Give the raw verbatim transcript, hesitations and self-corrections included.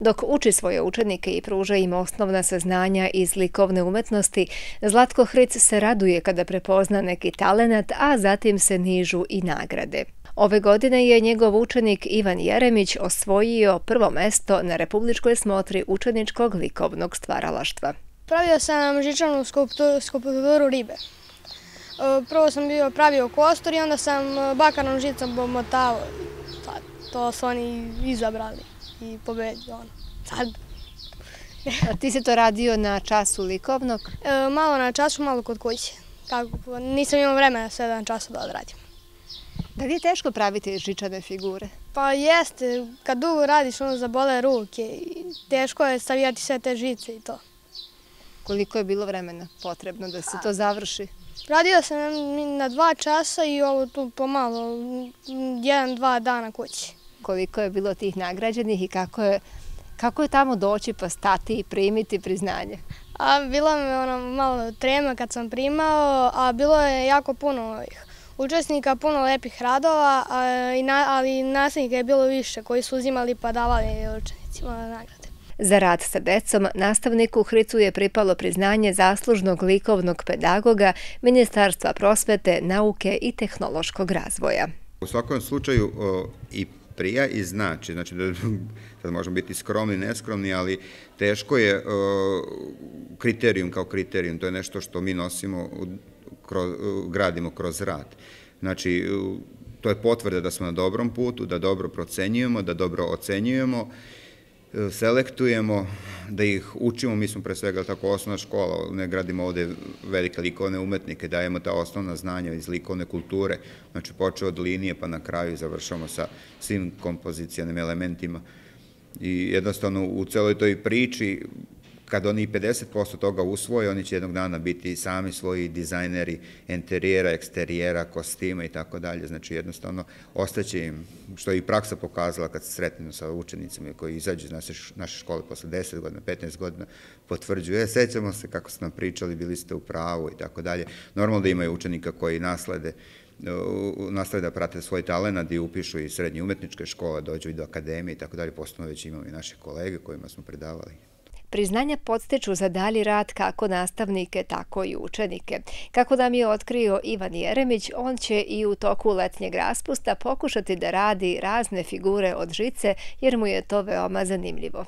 Dok uči svoje učenike i pruža im osnovna saznanja iz likovne umetnosti, Zlatko Hric se raduje kada prepozna neki talenat, a zatim se nižu i nagrade. Ove godine je njegov učenik Ivan Jeremić osvojio prvo mesto na republičkoj smotri učeničkog likovnog stvaralaštva. Pravio sam žičanu skulpturu ribe. Prvo sam bio pravio kostur i onda sam bakarnom žicom pomotao. To su oni izabrali i pobedio. Sad. A ti si to radio na času likovnog? E, malo na času, malo kod kuće. Kako, nisam imao vremena sedam časa da odradim. Da li je teško praviti žičane figure? Pa jeste, kad dugo radiš ono zabole ruke i teško je stavijati sve te žice i to. Koliko je bilo vremena potrebno da se to završi? Radio sam na dva časa i ovo tu pomalo, jedan, dva dana kući. Koliko je bilo tih nagrađenih i kako je, kako je tamo doći pa stati i primiti priznanje? A bilo mi ono malo trema kad sam primao, a bilo je jako puno učesnika, puno lepih radova, ali nasljednika je bilo više koji su uzimali pa davali učenicima nagrade. Za rad sa decom nastavniku Hricu je pripalo priznanje zaslužnog likovnog pedagoga Ministarstva prosvete, nauke i tehnološkog razvoja. U svakom slučaju i prija i znači, znači da sad možemo biti skromni, neskromni, ali teško je kriterijum kao kriterijum, to je nešto što mi nosimo, gradimo kroz rad. Znači, to je potvrda da smo na dobrom putu, da dobro procenjujemo, da dobro ocenjujemo, selektujemo, da ih učimo, mi smo pre svega tako osnovna škola, ne gradimo ovde velike likovne umetnike, dajemo ta osnovna znanja iz likovne kulture, znači počeo od linije pa na kraju završamo sa svim kompozicijnim elementima i jednostavno u celoj toj priči, kad oni pedeset posto toga usvoje, oni će jednog dana biti sami svoji dizajneri interijera, eksterijera, kostima i tako dalje. Znači jednostavno ostaće im, što je i praksa pokazala kad se sretnemo sa učenicima koji izađu iz naše škole posle deset godina, petnaest godina, potvrđuju, e, sećamo se kako ste nam pričali, bili ste u pravu i tako dalje. Normalno da imaju učenika koji naslede, naslede da prate svoj talenat i upišu i srednje umetničke škole, dođu i do akademije i tako dalje. Postupno već imamo i naše kolege kojima smo predavali. Priznanja podstiču za dalji rad kako nastavnike, tako i učenike. Kako nam je otkrio Ivan Jeremić, on će i u toku letnjeg raspusta pokušati da radi razne figure od žice jer mu je to veoma zanimljivo.